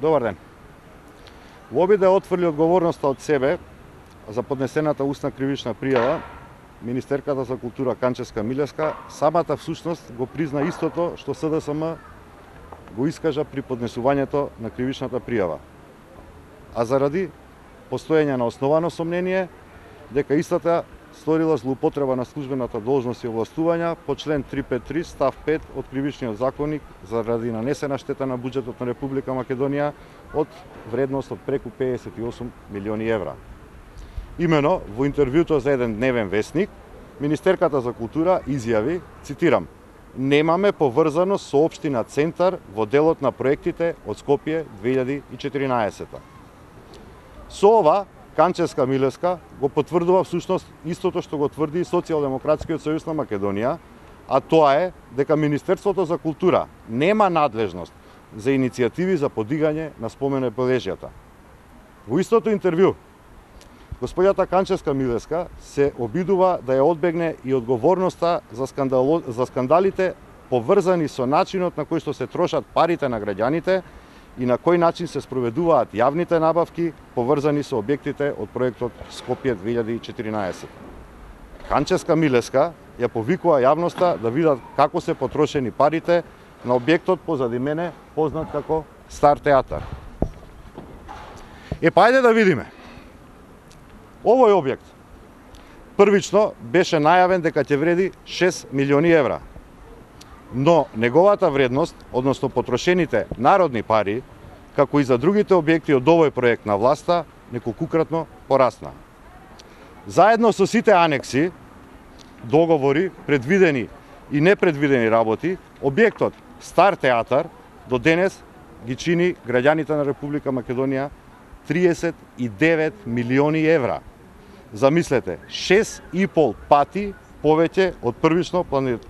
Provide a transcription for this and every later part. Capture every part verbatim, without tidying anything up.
Добар ден. Во обид да отфрли одговорноста од себе за поднесената устна кривична пријава, Министерката за култура Канческа Милевска самата всушност го призна истото што С Д С М го искажа при поднесувањето на кривичната пријава. А заради постоење на основано сомнение дека истата сторила злоупотреба на службената должност и овластувања по член триста петдесет и три став пет од Кривичниот законник заради нанесена штета на буџетот на Република Македонија од вредност од преку педесет и осум милиони евра. Имено, во интервјуто за еден дневен весник, Министерката за култура изјави, цитирам: "Немаме поврзаност со општина Центар во делот на проектите од Скопје две илјади и четиринаесета. Со ова, Канческа Милевска го потврдува всушност истото што го тврди и Социјалдемократскиот сојуз на Македонија, а тоа е дека Министерството за култура нема надлежност за иницијативи за подигање на спомен обележјата. Во истото интервју, господјата Канческа Милевска се обидува да ја одбегне и одговорноста за, скандало, за скандалите поврзани со начинот на кој што се трошат парите на граѓаните и на кој начин се спроведуваат јавните набавки поврзани со објектите од проектот Скопје две илјади и четиринаесета. Канческа Милевска ја повикува јавноста да видат како се потрошени парите на објектот позади мене познат како Стар театар. Е, па ајде да видиме. Овој објект првично беше најавен дека ќе вреди шест милиони евра. Но неговата вредност, односно потрошените народни пари, како и за другите објекти од овој проект на власта, неколкукратно порасна. Заедно со сите анекси, договори, предвидени и непредвидени работи, објектот Стар театар до денес ги чини граѓаните на Република Македонија триесет и девет милиони евра. Замислете, шест и пол пати повеќе од првично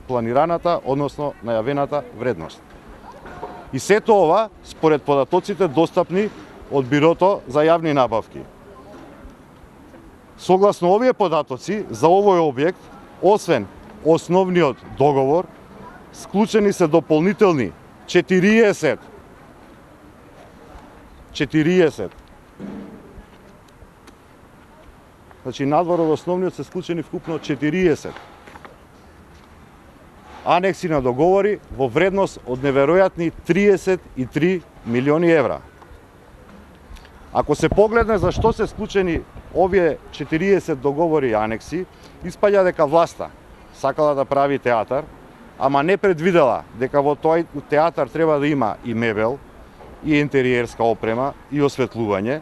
планираната, односно најавената вредност. И сето ова според податоците достапни од Бирото за јавни набавки. Согласно овие податоци, за овој објект, освен основниот договор, склучени се дополнителни четириесет четириесет Значи, надвор од основниот се склучени вкупно четириесет анекси на договори во вредност од неверојатни триесет и три милиони евра. Ако се погледне за што се склучени овие четириесет договори и анекси, испаѓа дека власта сакала да прави театар, ама не предвидела дека во тој театар треба да има и мебел, и интериерска опрема, и осветлување,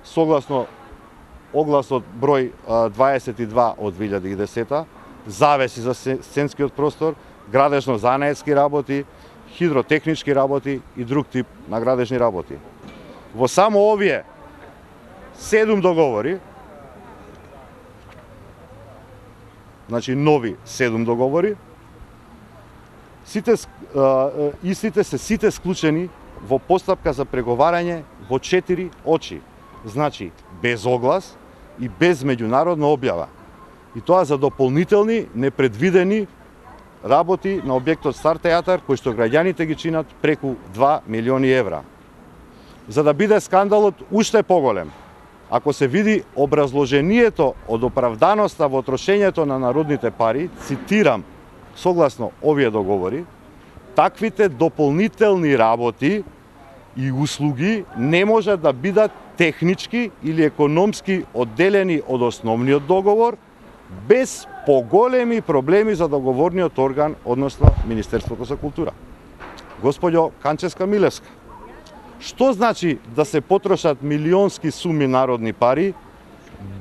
согласно огласот број дваесет и два од две илјади и десета, завеси за сценскиот простор, градежно-занаетски работи, хидротехнички работи и друг тип на градежни работи. Во само овие седум договори, значи нови седум договори, сите истите се сите склучени во постапка за преговарање во четири очи, значи без оглас и без меѓународна објава. И тоа за дополнителни, непредвидени работи на објектот Стар театар, кои што граѓаните ги чинат преку два милиони евра. За да биде скандалот уште поголем, ако се види образложението од оправданоста во трошењето на народните пари, цитирам, согласно овие договори, таквите дополнителни работи и услуги не може да бидат технички или економски одделени од основниот договор, без поголеми проблеми за договорниот орган, односно Министерството за култура. Господјо Канческа Милевска, што значи да се потрошат милионски суми народни пари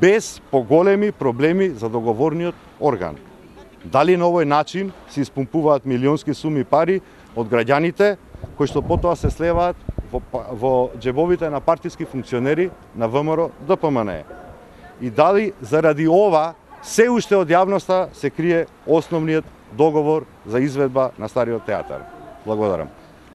без поголеми проблеми за договорниот орган? Дали на овој начин се испумпуваат милионски суми пари од граѓаните, кои што потоа се слеваат во, во џебовите на партиски функционери на В М Р Д П М Н Е? И дали заради ова се уште од јавноста се крие основниот договор за изведба на Стариот театар? Благодарам.